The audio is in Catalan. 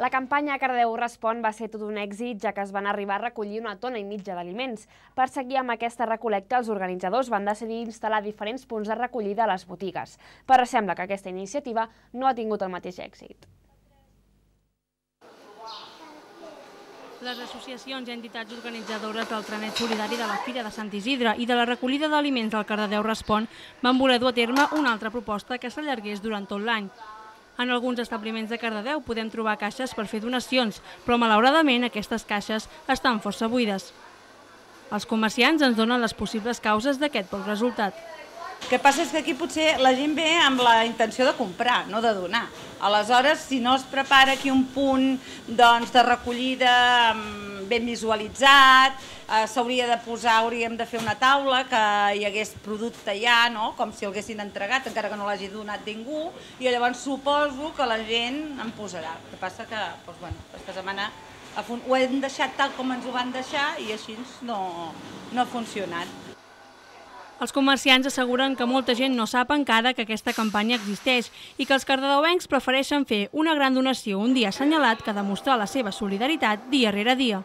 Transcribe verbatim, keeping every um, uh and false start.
La campanya Cardedeu Respon va ser tot un èxit, ja que es van arribar a recollir una tona i mitja d'aliments. Per seguir amb aquesta recol·lecta, els organitzadors van decidir instal·lar diferents punts de recollida a les botigues, però sembla que aquesta iniciativa no ha tingut el mateix èxit. Les associacions i entitats organitzadores del Trenet Solidari de la Fira de Sant Isidre i de la recollida d'aliments del Cardedeu Respon van voler dur a terme una altra proposta que s'allargués durant tot l'any. En alguns establiments de Cardedeu podem trobar caixes per fer donacions, però malauradament aquestes caixes estan força buides. Els comerciants ens donen les possibles causes d'aquest poc resultat. El que passa és que aquí potser la gent ve amb la intenció de comprar, no de donar. Aleshores, si no es prepara aquí un punt de recollida ben visualitzat, s'hauria de posar, hauríem de fer una taula que hi hagués producte ja, com si el haguessin entregat, encara que no l'hagi donat ningú, i llavors suposo que la gent en posarà. El que passa que aquesta setmana ho hem deixat tal com ens ho van deixar i així no ha funcionat. Els comerciants asseguren que molta gent no sap encara que aquesta campanya existeix i que els cardedeuencs prefereixen fer una gran donació un dia assenyalat que demostrar la seva solidaritat dia rere dia.